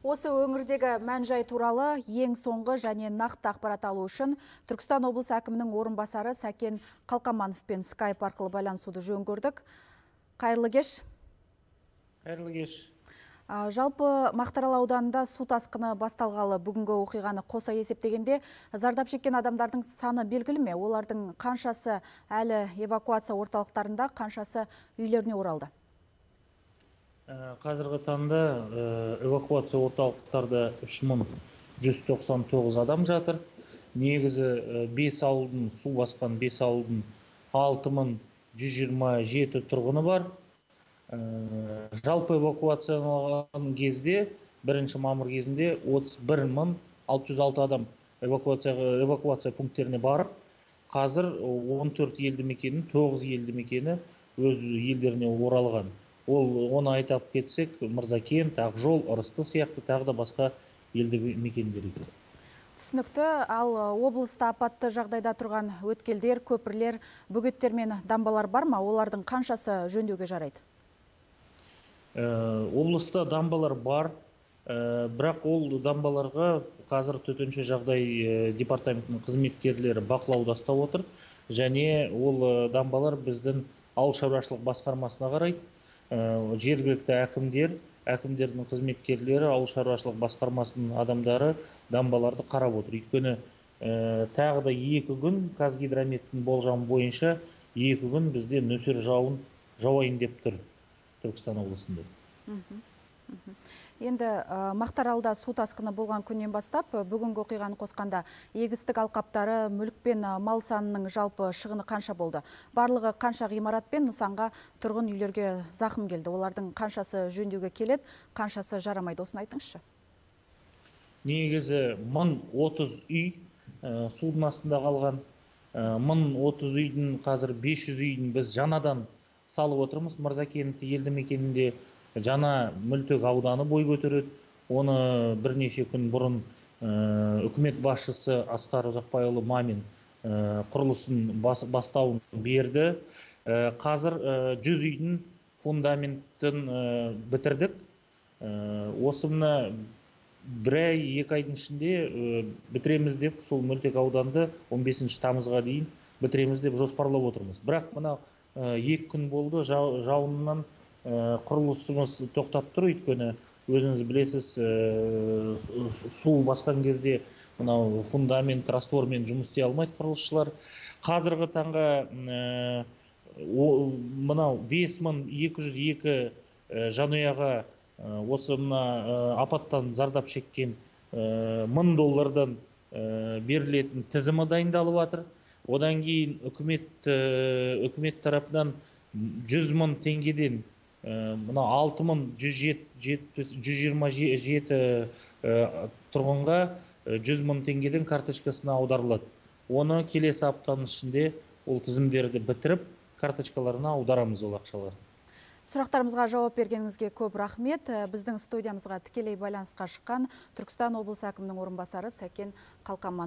Осы өңірдегі мән-жай туралы ең соңғы және нақты ақпарат алу үшін Түркістан облысы әкімінің орынбасары Сәкен Қалқамановпен скайп арқылы байланысуды жөн көрдік. Қайырлы кеш. Қайырлы кеш. Жалпы Мақтаарал ауданында су тасқыны басталғалы бүгінгі оқиғаны қоса есептегенде зардап шеккен адамдардың саны белгілі ме? Олардың қаншасы әлі эвакуация орталықтарында, қаншасы үйлеріне оралды? Қазіргі таңда эвакуация орталықтарда 3199 адам жатыр. Негізі 5 ауылдың, су басқан 5 ауылдың 6127 тұрғыны бар. Жалпы эвакуацияланған кезде, 1 мамыр кезінде 31606 адам эвакуация пункттеріне барып, қазір 14 елді мекеннің 9 елді мекені өз елдеріне оралған. Оны айтап кетсек, Мырзакент, Ақжол, Ырысты сияқты тағы да басқа елді мекендер. Түсінікті, ал облыста апатты жағдайда тұрған өткелдер, көпірлер, бөгеттер мен дамбалар бар ма? Олардың қаншасы жөндеуге жарайды? Облыста дамбалар бар, бірақ ол дамбаларға қазір төтенше жағдай департаментінің қызметкерлері бақылауда ұстап отыр, және ол дамбалар біздің ауыл шаруашылық басқармасына қарайды. Жергілікті әкімдердің қызметкерлері, ауыл шаруашылық басқармасының адамдары дамбаларды қарап отыр. Өйткені тағы да 2 күн Қазгидрометтің болжамы бойынша 2 күн бізде нөсер жауайын деп тұр Түркістан облысында. Енді Мақтааралда су тасқыны болған күннен бастап, бүгінгі оқиғаны қосқанда егістік алқаптары, мүлік пен мал санының жалпы шығыны қанша болды? Барлығы қанша ғимарат пен нысанға, тұрғын үйлерге зақым келді? Олардың қаншасы жөндеуге келеді, қаншасы жарамайды? Осыны айтыңызшы. Негізі 1030 үй судың астында қалған. 1030 үйдің қазір 500 үйдің біз жаңадан салып отырмыз. Мырзакент елді мекенінде жаңа Мөлтек ауданы бой көтереді. Оны бірнеше күн бұрын үкімет басшысы Асқар Ұзақбайұлы Мамин құрылысын бастауын берді. Қазір 100 үйдің фундаментін бітірдік. Осыны 1-2 айдың ішінде бітіреміз деп, сол Мөлтек ауданды 15 тамызға дейін бітіреміз деп жоспарлап отырмыз. Бірақ мына 2 күн болды, жауыннан құрылысымыз тоқтап тұр. Өйткені өзіңіз білесіз, су басқан кезде мынау фундамент раствормен жұмыс істей алмайды құрылысшылар. Қазіргі таңға мынау 5202 жанұяға осы мына апаттан зардап шеккен $1000 берілетін тізімі дайындалып жатыр. Одан кейін үкімет тарапынан 100.000 теңгеден мына 6127 тұрғынға 100.000 теңгеден карточкасына аударылады. Оны келесі аптаның ішінде ол тізімдерді бітіріп, карточкаларына аударамыз ол ақшалар. Сұрақтарымызға жауап бергеніңізге көп рахмет. Біздің студиямызға тікелей байланысқа шыққан Түркістан облысы әкімінің орынбасары Сәкен Қалқаманов.